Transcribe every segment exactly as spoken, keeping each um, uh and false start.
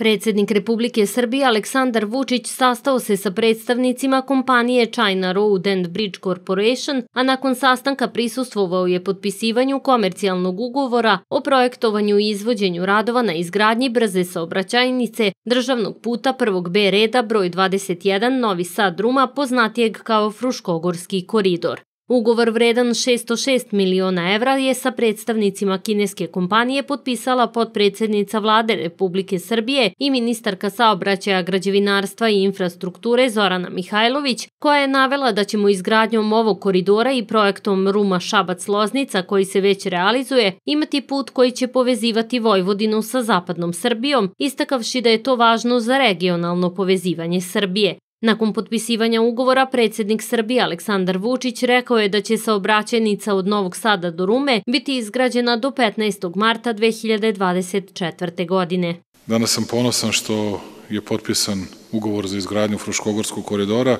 Predsednik Republike Srbije Aleksandar Vučić sastao se sa predstavnicima kompanije China Road and Bridge Corporation, a nakon sastanka prisustvovao je potpisivanju komercijalnog ugovora o projektovanju i izvođenju radova na izgradnji brze saobraćajnice državnog puta prvog B reda broj dvadeset jedan Novi Sad-Ruma, poznatijeg kao Fruškogorski koridor. Ugovor vredan šesto šest miliona evra je sa predstavnicima kineske kompanije potpisala potpredsednica Vlade Republike Srbije i ministarka saobraćaja, građevinarstva i infrastrukture Zorana Mihajlović, koja je navela da ćemo izgradnjom ovog koridora i projektom Ruma-Šabac-Loznica, koji se već realizuje, imati put koji će povezivati Vojvodinu sa zapadnom Srbijom, istakavši da je to važno za regionalno povezivanje Srbije. Nakon potpisivanja ugovora, predsednik Srbije Aleksandar Vučić rekao je da će saobraćajnica od Novog Sada do Rume biti izgrađena do petnaestog marta dve hiljade dvadeset četvrte. godine. Danas sam ponosan što je potpisan ugovor za izgradnju Fruškogorskog koridora.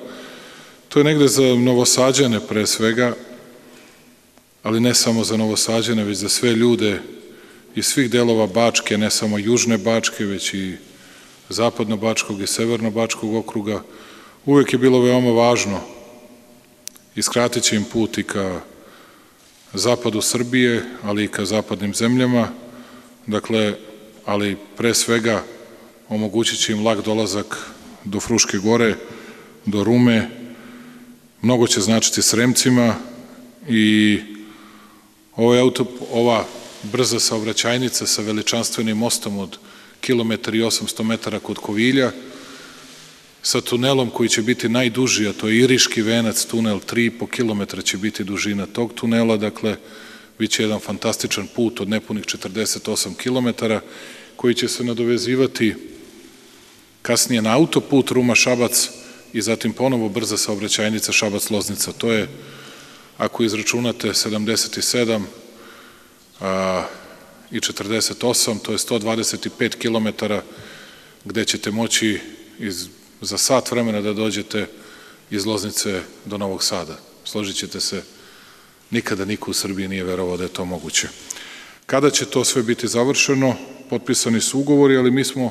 To je negde za Novosađane pre svega, ali ne samo za Novosađane, već za sve ljude iz svih delova Bačke, ne samo južne Bačke, već i zapadno-bačkog i severno-bačkog okruga. Uvek je bilo veoma važno i skratit će im put i ka zapadu Srbije, ali i ka zapadnim zemljama, dakle, ali pre svega omogućit će im lak dolazak do Fruške gore, do Rume, mnogo će značiti Sremcima i ovaj auto, ova brza saobraćajnica sa veličanstvenim mostom od kilometar i osamsto metara kod Kovilja, sa tunelom koji će biti najduži, a to je Iriški venac tunel, tri i po kilometra će biti dužina tog tunela, dakle, bit će jedan fantastičan put od nepunih četrdeset osam kilometara, koji će se nadovezivati kasnije na autoput Ruma-Šabac i zatim ponovo brza saobraćajnica Šabac-Loznica. To je, ako izračunate sedamdeset sedam a, i četrdeset osam, to je sto dvadeset pet kilometara gde ćete moći iz za sat vremena da dođete iz Loznice do Novog Sada. Složit ćete se, nikada niko u Srbiji nije verovao da je to moguće. Kada će to sve biti završeno? Potpisani su ugovori, ali mi smo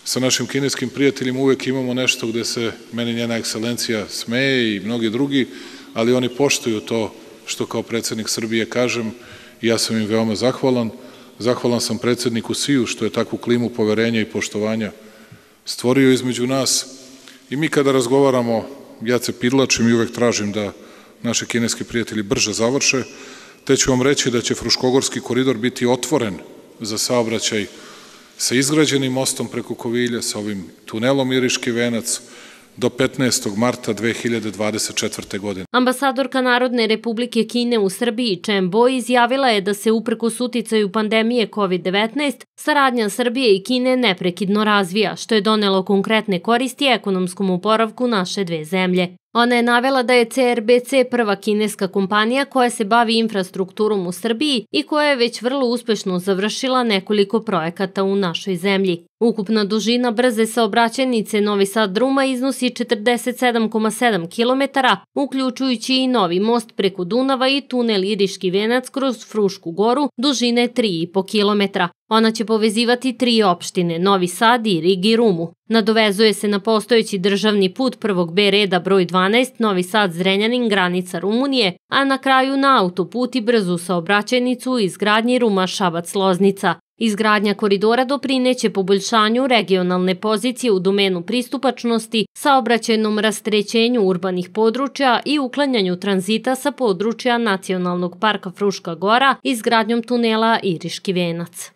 sa našim kineskim prijateljima uvek imamo nešto gde se meni njena ekscelencija smeje i mnogi drugi, ali oni poštuju to što kao predsednik Srbije kažem i ja sam im veoma zahvalan. Zahvalan sam predsedniku Siju što je takvu klimu poverenja i poštovanja stvorio između nas i mi kada razgovaramo, ja se pidlačim i uvek tražim da naši kineski prijatelji brže završe, te ću vam reći da će Fruškogorski koridor biti otvoren za saobraćaj sa izgrađenim mostom preko Kovilja, sa ovim tunelom Iriški venac, do petnaestog marta dve hiljade dvadeset četvrte. godine. Ambasadorka Narodne Republike Kine u Srbiji Chen Bo izjavila je da se uprkos uticaju pandemije kovid devetnaest saradnja Srbije i Kine neprekidno razvija, što je donelo konkretne koristi ekonomskom oporavku naše dve zemlje. Ona je navela da je C R B C prva kineska kompanija koja se bavi infrastrukturom u Srbiji i koja je već vrlo uspešno završila nekoliko projekata u našoj zemlji. Ukupna dužina brze saobraćajnice Novi Sad-Ruma iznosi četrdeset sedam zarez sedam kilometara, uključujući i novi most preko Dunava i tunel Iriški venac kroz Frušku goru dužine tri i po kilometra. Ona će povezivati tri opštine, Novi Sad, Irig i Rumu. Nadovezuje se na postojeći državni put prvog B reda broj dvanaest Novi Sad-Zrenjanin, granica Rumunije, a na kraju na autoput i brzu saobraćajnicu u izgradnji Ruma-Šabac-Loznica. Izgradnja koridora doprineće poboljšanju regionalne pozicije u domenu pristupačnosti, saobraćajnom rasterećenju urbanih područja i uklanjanju tranzita sa područja Nacionalnog parka Fruška gora izgradnjom tunela Iriški venac.